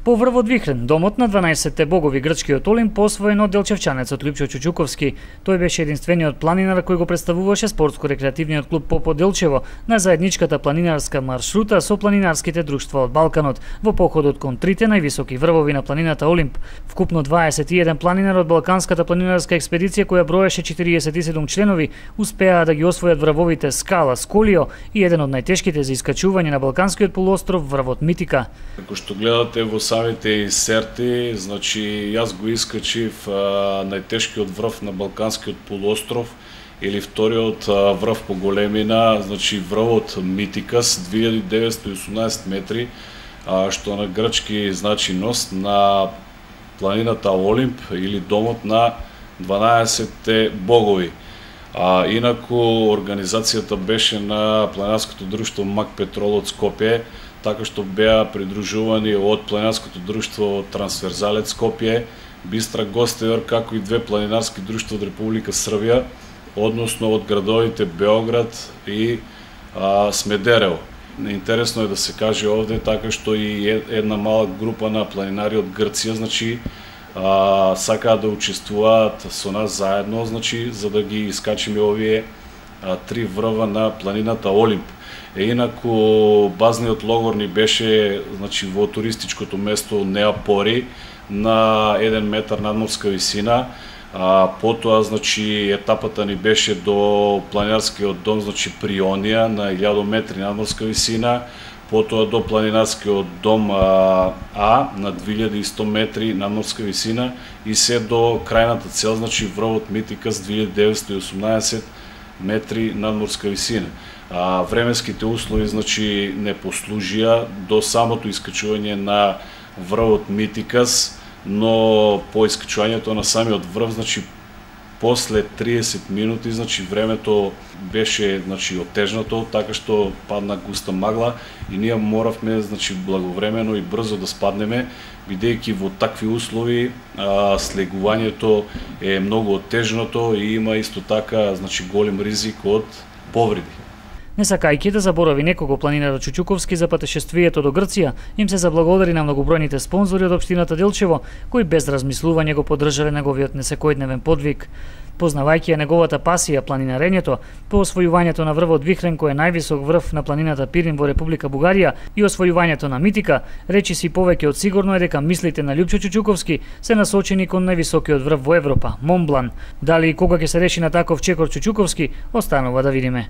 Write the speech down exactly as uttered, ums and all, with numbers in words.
По врвот Вихрен, домот на дванаесетте богови грчкиот Олимп посвоен од делчевчанецот Лјупчо Чучуковски. Тој беше единствениот планинар кој го представуваше спортско-рекреативниот клуб Попо Делчево на заедничката планинарска маршрута со планинарските друштва од Балканот во походот кон трите највисоки врвови на планината Олимп. Вкупно дваесет и еден планинар од Балканската планинарска експедиција, која броеше четириесет и седум членови, успеа да ги освојат врвовите Скала, Сколио и еден од најтешките за искачување на Балканскиот полуостров, врвот Митика. Како што гледате во самите инсерти, значи јас го искачив а, најтешкиот врв на Балканскиот полуостров или вториот а, врв по големина, значи врвот Митикас, две илјади деветстотини и осумнаесет метри, а, што на грчки значи ност на планината Олимп или домот на дванаесетте богови. А, инаку организацијата беше на планинарското друштво Мак Петрол од Скопје, така што беа придружувани од планинарското друштво Трансверзалец Скопје, Бистра Гостевар, како и две планинарски друштва од Република Србија, односно од градовите Београд и а, Смедерево. Интересно е да се каже овде, така што и една мала група на планинари од Грција, значи, а, сакаат да учествуваат со нас заедно, значи, за да ги искачиме овие а, три врва на планината Олимп. Е, инаку базниот логор ни беше, значи, во туристичкото место Неапори на еден метар надморска висина. А, потоа, значи, етапата ни беше до планинарскиот дом, значи, Прионија на илјада метри надморска висина, потоа до планинарскиот дом А, а на две илјади и сто метри надморска висина и се до крајната цел, значи, врвот Митикас две илјади деветстотини и осумнаесет метри надморска висина. А, временските услови, значи, не послужија до самото искачување на врвот Митикас, но по искачувањето на самиот врв, значи, после триесет минути, значи, времето беше, значи, оттежнато, така што падна густа магла и ние моравме, значи, благовремено и брзо да спаднеме, бидејќи во такви услови а, слегувањето е многу оттежнато и има исто така, значи, голем ризик од повреди. Не сакајќи да заборави некого, планинарот Чучуковски за патешествието до Грција им се заблагодари на многобројните спонзори од општината Делчево, кои без размислување го поддржале неговиот несекојдневен подвиг. Познавајќи ја неговата пасија планинарењето, по освојувањето на врвот Вихрен, кој е највисок врв на планината Пирин во Република Бугарија, и освојувањето на Митика, речи си повеќе од сигурно е дека мислите на Лјупчо Чучуковски се насочени кон највисокиот врв во Европа, Монблан. Дали и кога ќе се реши на таков чекор Чучуковски, останува да видиме.